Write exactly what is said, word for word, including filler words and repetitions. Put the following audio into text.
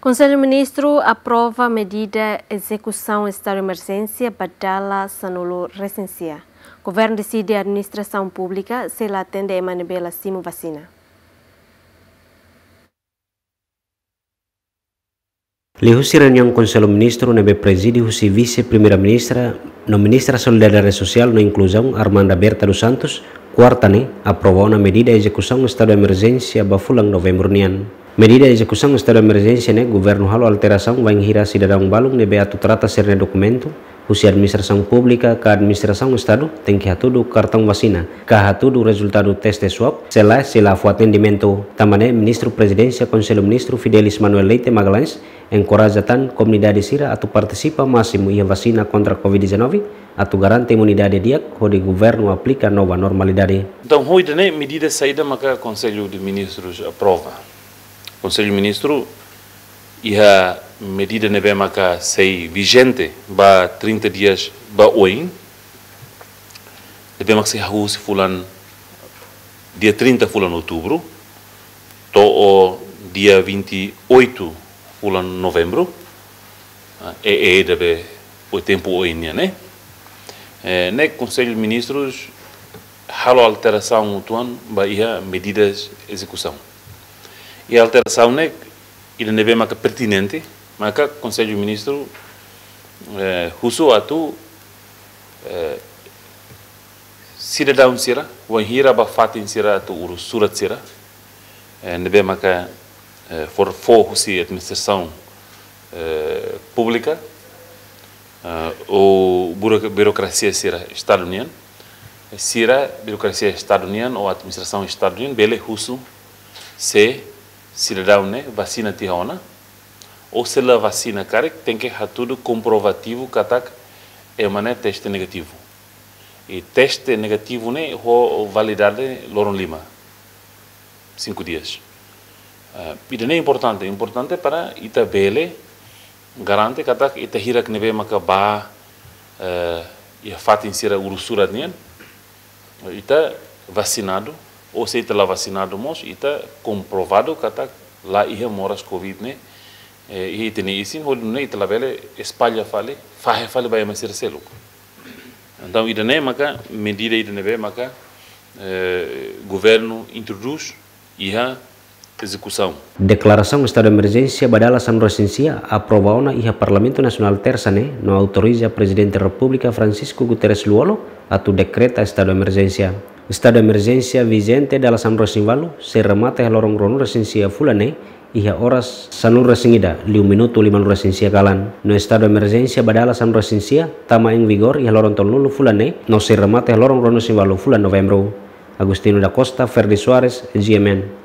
Konsellu Ministru aprova medida ezekusaun estadu de emerjénsia ba dala sanulu resin sia. Governu deside administrasaun públika sei la atende ema ne'ebé la simu vasina. Liuhusi reuniaun Konsellu Ministru ne'ebé prezide husi Vise-Primeira-Ministra no Ministra Solidariedade Sosiál no Inkluzaun, Armanda Berta dos Santos, kuarta ne'e, aprova ona medida ezekusaun estadu de emerjénsia ba fulan Novembru nian. Medida ezekusaun estadu de emerjénsia ne'e governu halo alterasaun wainhira sidadaun balun ne'ebé atu trata sira-nia dokumentu husi administrasaun públika ka administrasaun estadu tenke hatudu kartaun vasina ka hatudu rezultadu teste swab, se lae sei la fó atendimentu. Tanba ne'e, Ministru Prezidénsia Konsellu Ministru Fidelis Manuel Leite Magalhães enkoraja tan komunidade sira atu partisipa másimu iha vasina kontra covid dezanove, atu garante imunidade di'ak hodi governu aplika nova normalidade. Entaun, ho ida-ne'e medida saida maka Konsellu de Ministrus aprova. Konsellu Ministru iha medida ne'ebé maka sei vijente ba trinta dias ba oin, ne'ebé maka sei hahú husi fulan dia trinta fulan Outubru to'o dia vinte e oito fulan Novembru. Ah, e, e, debe o tempu oin nian, ne'e. Eh, ne'e Konsellu Ministrus halo alterasaun uitoan ba iha medidas ezekusaun. I alterasaun ne'e, ida ne'ebé maka pertinente, maka Konsellu Ministru, eh, husu atu, eh, sidadaun sira, wainhira ba fatin sira atu urus surat sira, eh, ne'ebé maka, eh, fó, fó husi administrasaun, eh, públika, eh, ou buro-, burokrasia sira estadu nian, sira burokrasia estadu nian ou administrasaun estadu nian bele husu se sidadaun ne'e vasina tiha ona, ou se la vasina karik, tenke hatudu komprovativu katak ema ne'e teste negativu. I teste negativu ne'e ho validade loron lima, cinco dias. Eh, ida-ne'e importante, importante para ita bele garante katak ita hirak ne'ebé maka ba, eh, iha fatin sira urus surat nian, ita vasinadu, ou se ita la vasinadu mós, ita komprovadu katak la iha moras covid ne'e, eh, iha ita-nia isin, hodi nune'e ita labele espalla fali, fahe fali ba ema sira seluk. Entaun, ida-ne'e maka medida ida ne'ebé maka, eh, governu introdús iha ezekusaun. Deklarasaun estadu de emerjénsia ba dala sanulu resin sia aprova ona iha Parlamentu Nasionál tersa ne'e no autoriza Prezidente Repúblika Francisco Guterres Lú-Olo atu dekreta estadu de emerjénsia. Estadu de emerjénsia vijente dala sanulu resin ualu sei remata iha loron ruanulu resin sia fulan ne'e iha oras sanulu resin ida liu minutu limanulu resin sia kalan. No estadu de emerjénsia ba dala sanulu resin sia tama em vigor iha loron tolunulu fulan ne'e no sei remata iha loron ruanulu resin ualu fulan Novembru. Agostinho da Costa, Ferdi Soares, G M N.